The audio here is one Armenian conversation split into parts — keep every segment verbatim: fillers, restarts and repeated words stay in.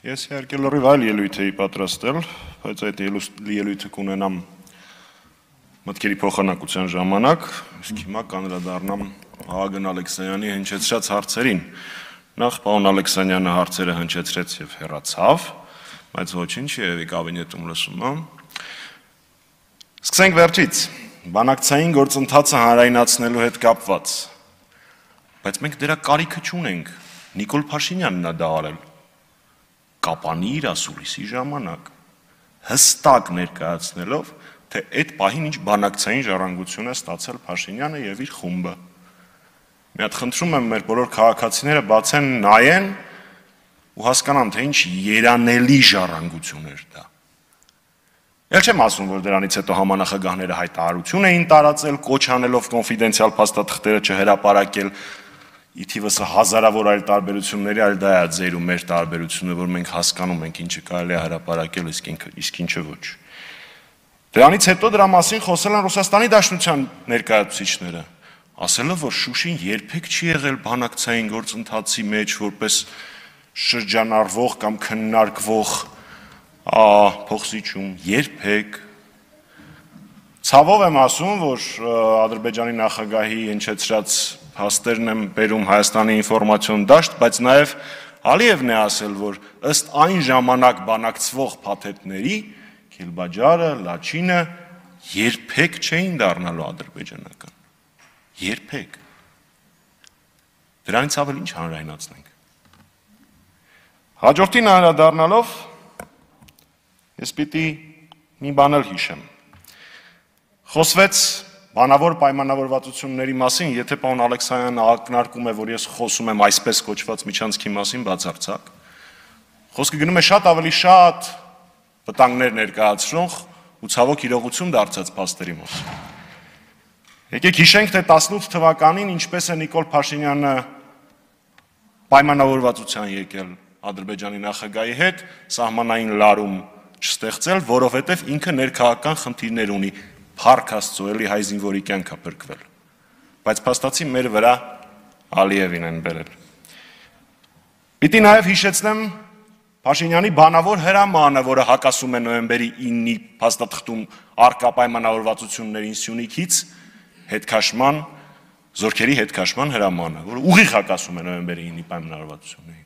Ես իհարկե լրիվ այլ ելույթ էի պատրաստել, բայց այդ ելույթը կունենամ մտքերի փոխանակության ժամանակ, իսկ հիմա կանդրադառնամ Աղագն Ալեքսանյանի հնչեցրած հարցերին։ Նախ պարոն Ալեքսանյանը հարցերը հնչեցրեց եւ հեռացավ, բայց ոչինչ երևի կաբինետում լսում է։ Սկսենք վերջից։ Բանակցային գործընթացը հանրայնացնելու հետ կապված։ Բայց մենք դրա կարիքը չունենք։ Նիկոլ Փաշինյանն է դա արել։ Կապանի իր ասուլիսի ժամանակ հստակ ներկայացնելով, թե այդ պահին ինչ բանակցային ժառանգություն է ստացել Փաշինյանը եւ իր խումբը։ Մի հատ խնդրում եմ մեր բոլոր քաղաքացիները բացեն նայեն ու հասկանան, թե ինչ երանելի ժառանգություն էր դա։ Էլ չեմ ասում, որ դրանից հետո համանախագահները հայտարարություն էին տարածել, կոչ անելով կոնֆիդենցիալ փաստաթղթերը չհրապարակել, ի թիվս հազարավոր այլ տարբերությունների, այլ դա է ձեր ու մեր տարբերությունը, որ մենք հասկանում ենք ինչը կարելի է հրապարակել, իսկ ինչը ոչ։ Դրանից հետո դրա մասին խոսել են Ռուսաստանի Դաշնության ներկայացուցիչները, ասելով, որ Շուշին երբեք չի եղել բանակցային գործընթացի մեջ որպես շրջանառվող կամ քննարկվող փոխզիջում, երբեք։ Ցավով եմ ասում, որ Ադրբեջանի նախագահի հնչեցրած փաստերն եմ բերում Հայաստանի ինֆորմացիոն դաշտ, բայց նաև Ալիևն է ասել, որ ըստ այն ժամանակ բանակցվող փաթեթների Քիլբաջարը, Լաչինը երբեք չէին դառնալու ադրբեջանական։ Երբեք։ Դրանից ավել ինչ հանրայնացնենք։ Հաջորդին անդրադառնալով ես պիտի մի բան էլ հիշեմ։ Խոսվեց բանավոր պայմանավորվածությունների մասին, եթե պարոն Ալեքսանյանը ակնարկում է, որ ես խոսում եմ այսպես կոչված միջանցքի մասին բացարձակ, խոսքը գնում է շատ ավելի շատ վտանգներ ներկայացնող ու ցավոք իրողություն դարձած փաստերի մասին։ Եկեք հիշենք, թե տասնութ թվականին ինչպես է Նիկոլ Փաշինյանը պայմանավորվածության եկել Ադրբեջանի նախագահի հետ սահմանային լարում չստեղծել, որովհետև ինքը ներքաղաքական խնդիրներ ունի, փառք Աստծո, էլի հայ զինվորի կյանք է փրկվել։ Բայց փաստացի մեր վրա Ալիևին են բերել։ Պիտի նաև հիշեցնեմ Փաշինյանի բանավոր հրամանը, որը հակասում է նոյեմբերի իննի փաստաթղթում առկա պայմանավորվածություններին Սյունիքից հետքաշման, զորքերի հետքաշման հրամանը, որը ուղիղ հակասում է նոյեմբերի իննի պայմանավորվածություններին։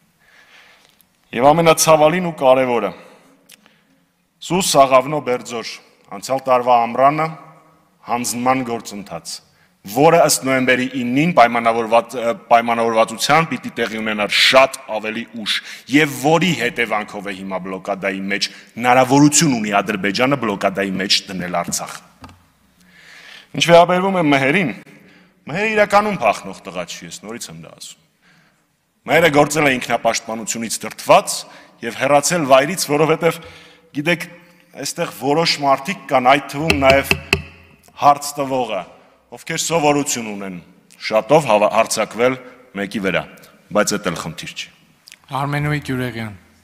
Եվ ամենացավալին ու կարևորը Սուս Աղավնո Բերձոր անցյալ տարվա ամռանը հանձնման գործընթաց, որը ըստ նոյեմբերի իննին պայմանավորվածության պիտի տեղի ունենար շատ ավելի ուշ եւ որի հետևանքով է հիմա բլոկադայի մեջ հնարավորություն ունի Ադրբեջանը բլոկադայի մեջ դնել Արցախը։ Ինչ վերաբերվում է մհերին, մհերը իրականում փախնող տղա չի, ես նորից եմ դա ասում։ Մհերը գործել է ինքնապաշտպանությունից դրդված եւ հեռացել վայրից, որովհետեւ գիտեք, այստեղ որոշ մարդիկ կան, այդ թվում նաև հարց տվողը, ովքեր սովորություն ունեն շատով հարցակվել մեկի վրա, բայց դա էլ խնդիր չի։ Արմենուհի Գյուրեղյան